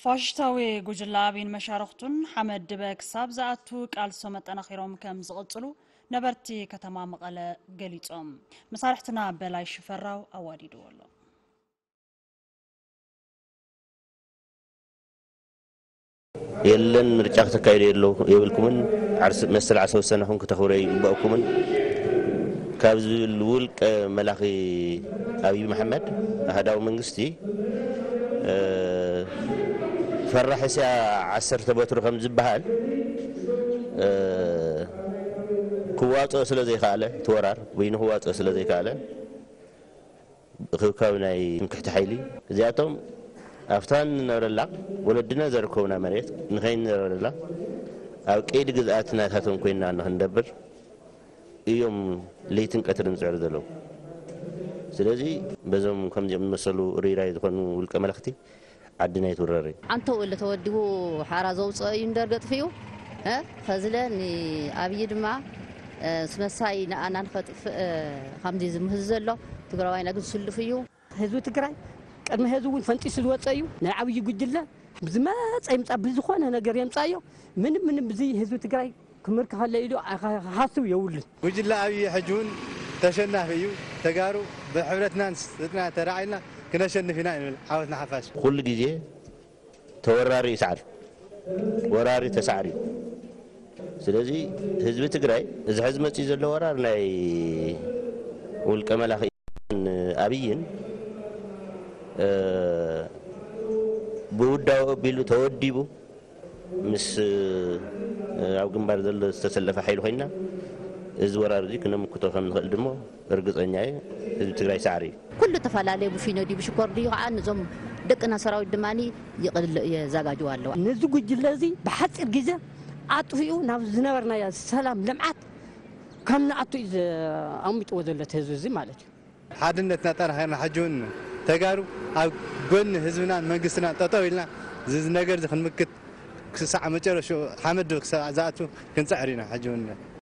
ፋሽስታዊ ጉጅለ ኣብይን መሻርኽቱን ሓመድ ድበ ክሳብ ዝኣቱ ቃልሶም ኣጠናኺሮም ከም ዝቕጽሉ ነበርቲ ከተማ መቐለ ገሊጾም። መሳርሕትና በላይ ሽፈራው ኣዋዲድዎ ኣሎ። የለን ምርጫ ክተካይዱ የለው የብልኩምን። ዓርስ- መሰል ዓርሰ ውሳነኹም ክተኽብሩ ይግባእኩምን ካብ ዝብል ውልቀ መላኺ ኣብይ መሓመድ ኣህዳዊ መንግስቲ ፈራሒ እስያ ዓሰርተ በትሩ ከም ዝበሃል ክዋፅኦ ስለ ዘይከኣለ፣ እቲ ወራር በይኑ ክዋፅኦ ስለ ዘይከኣለ እኽብካብ ናይ ትምክሕቲ ሓይሊ እዚኣቶም ኣብታ ንነብረላ ወለድና ዘረከቡና መሬት ንኸይንነብረላ ኣብ ቀይዲ ግዝኣት ናታቶም ኮይና ንኽንነብር እዮም ለይትን ቀትርን ዝፅዕሩ ዘለዉ። ስለዚ በዞም ከምዚኦም ዝመሰሉ ርይራይ ዝኾኑ ውልቀ መለኽቲ ዓድና ይትውረር እዩ። ኣንተው እለ ተወዲቡ ሓራ ዘውፅኦ እዩ እንደር ገጥፍኡ ኸዝለ ንኣብይ ድማ ስመሳይ ንኣና ንኸጥፍእ ከምዚ ዝምህዝ ዘሎ ትግራዋይና ግን ስልፍ እዩ። ህዝቢ ትግራይ ቅድሚ ህዝቢ እውን ፈንጢሱ ዝወፀ እዩ። ናይ ዓብዪ ጉጅለ ዝመፀ ይምፃ ብዝኾነ ነገር የምፃዮ ምንም ምንም ብዚ ህዝቢ ትግራይ ክምርክ ከለ ኢሉ ክሓስብ የብሉን። ጉጅለ ኣብይ ሕጂ እውን ተሸናፊ እዩ። ተጋሩ ብሕብረትናን ስጥና ተራዒልና ክነሸንፍ ኢና ንብል። ዓወት ንሓፋሽ። ኩሉ ግዜ ተወራሪ ይስዓር፣ ወራሪ ተሳዕር እዩ። ስለዚ ህዝቢ ትግራይ እዚ ሕዚ መፅኡ ዘሎ ወራር ናይ ውልቀ መላኺ ኣብይን ብውዳዊ ኣቢሉ ተወዲቡ ምስ ኣብ ግንባር ዘሎ ዝተሰለፈ ሓይሊ ኮይና እዚ ወራር እዚ ክነምክቶ ከም ንኽእል ድሞ እርግፀኛ እየ። ህዝቢ ትግራይ ሳዕሪ እዩ። ኩሉ ተፈላለየ ብፊኖ ድዩ ብሽኮር ድዩ ከዓ ነዞም ደቅና ሰራዊት ድማ ይቕልሎ የዘጋጅዋ ኣለዋ። ነዚ ጉጅለ እዚ ብሓፂር ግዜ ኣጥፊኡ ናብ ዝነበርናዮ ሰላም ልምዓት ከም ንኣቱ እዩ ኣሚጥዎ ዘሎ እቲ ህዝቢ እዚ ማለት እዩ። ሓድነትና ኣጠናኺርና ሕጂ እውን ተጋሩ ኣብ ጎኒ ህዝብናን መንግስትናን ጠጠው ኢልና እዚ ነገር እዚ ክንምክት ክሳዕ መጨረሽኡ ሓመድ ክሳዕ ዝኣቱ ክንፅዕር ኢና። ሕጂ እውን